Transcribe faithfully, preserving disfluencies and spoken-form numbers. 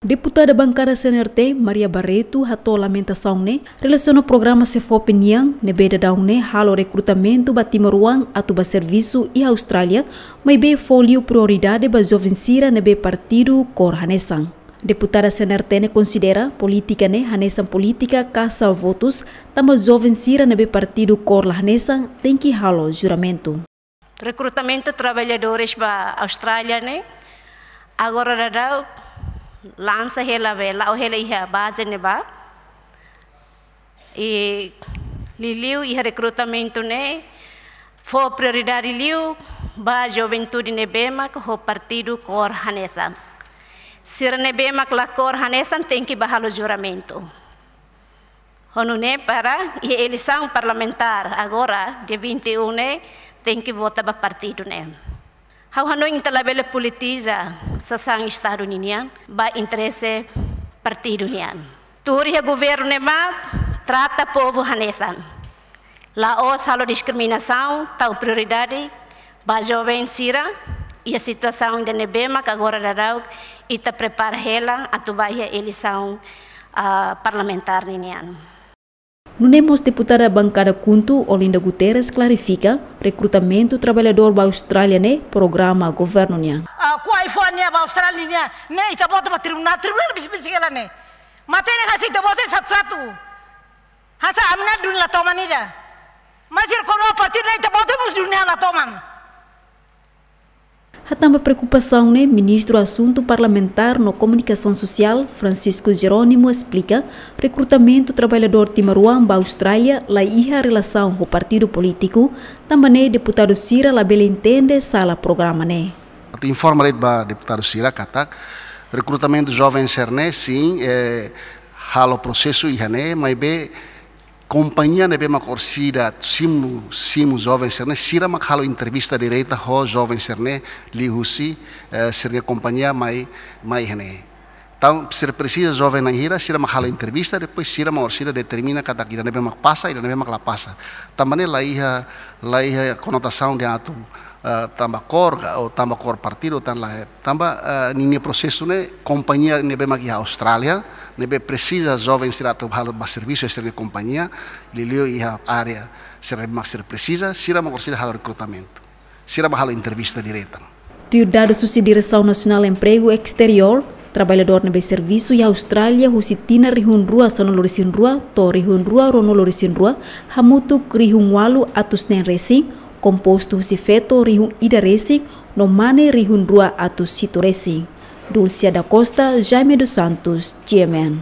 Deputada bankada C N R T, Maria Barreto, hato'o lamentasaun ne'e relasiona programa SEFOPE nian, ne'ebé daudaun ne'e halo rekrutamentu ba timoroan atu ba servisu iha Austrália, maibé fó liu prioridade ba joven sira ne'ebé partidu kór hanesan. Deputada C N R T ne'e konsidera polítika ne'e hanesan polítika kasa votus, tanba joven sira ne'ebé partidu kór la hanesan tenke halo juramentu. Rekrutamentu traballadores ba Austrália ne'e, agora daudaun lansa hela be, la'o hela iha baze ne'ebá. I liuliu iha rekrutamentu ne'e, fó prioridade liu ba juventude ne'ebé mak ho partidu kór hanesan. Sira ne'ebé mak la kór hanesan tenke ba halo juramentu. Ho nune'e para iha eleisaun parlamentár agora, dia vinte e um ne'e, tenke vota ba partidu ne'e. Ha'u hanoin ita labele politiza sasán Estadu ninian ba interese partidu nian. Tuur iha governu ne'ebá trata povu hanesan. La'ós halo diskriminasaun, tau prioridade ba joven sira iha situasaun ida ne'ebé mak agora daudaun ita prepara hela atu ba iha eleisaun, ah, parlamentár ninian. Nune'e mós deputada bankada KHUNTO, Olinda Guterres, klarifika rekrutamentu traballadór ba Austrália ne'e programa governu nian. Ah, kua iPhone nian ba Austrália nian, ne'e ita vota ba tribunál, tribunál bisi-bisi hela ne'e. Matenek hanesan ita vota satu-satu. Hanesan ami-nia dunia la toman ida. Mas sira kór ba partidu ne'e ita vota mós dunia la toman. Hatán ba preokupasaun ne'e, Ministru Asuntu Parlamentár no Komunikasaun Sosiál, Francisco Jerónimo, esplika rekrutamentu traballadór timoroan ba Austrália la iha relasaun ho partidu polítiku, tanba ne'e deputadu sira labele entende sala programa ne'e. Atu informa de'it ba deputadu sira katak rekrutamentu joven sira ne'e, sin, eh, halo prosesu iha ne'e, maibé kompañia ne'ebé mak orsida simu, simu joven sira ne'e, sira mak halo entrevista direta ho joven sira ne'e liuhusi, eh, sira-nia kompañia mai, mai iha ne'e. Entaun, sira presiza joven na'in hira, sira mak halo entrevista, depois sira mak orsida determina katak ida ne'ebé mak pasa, ida ne'ebé mak la pasa. Tanba ne'e la iha, la iha konotasaun de atu, eh, tanba kór, ka, ou tanba kór partidu, tan la, eh, tanba, eh, ninia prosesu ne'e, kompañia ne'ebé mak iha Austrália, ne'ebé presiza joven sira atu halo ba servisu iha sira-nia kompañia, liuliu iha área sira mak sira presiza, sira mak orsida halo rekrutamentu. Sira mak halo entrevista direta. Tuir dadus husi Diresaun Nasionál Empregu Esteriór, traballadór ne'ebé servisu iha Austrália husi tinan rihun rua sanulu-resin-rua to'o rihun rua ruanulu-resin-rua, hamutuk rihun ualu atus neen resin, kompostu husi feto rihun ida resin, no mane rihun rua atus hitu resin. Dulcia da Costa, Jaime dos Santos, G M N.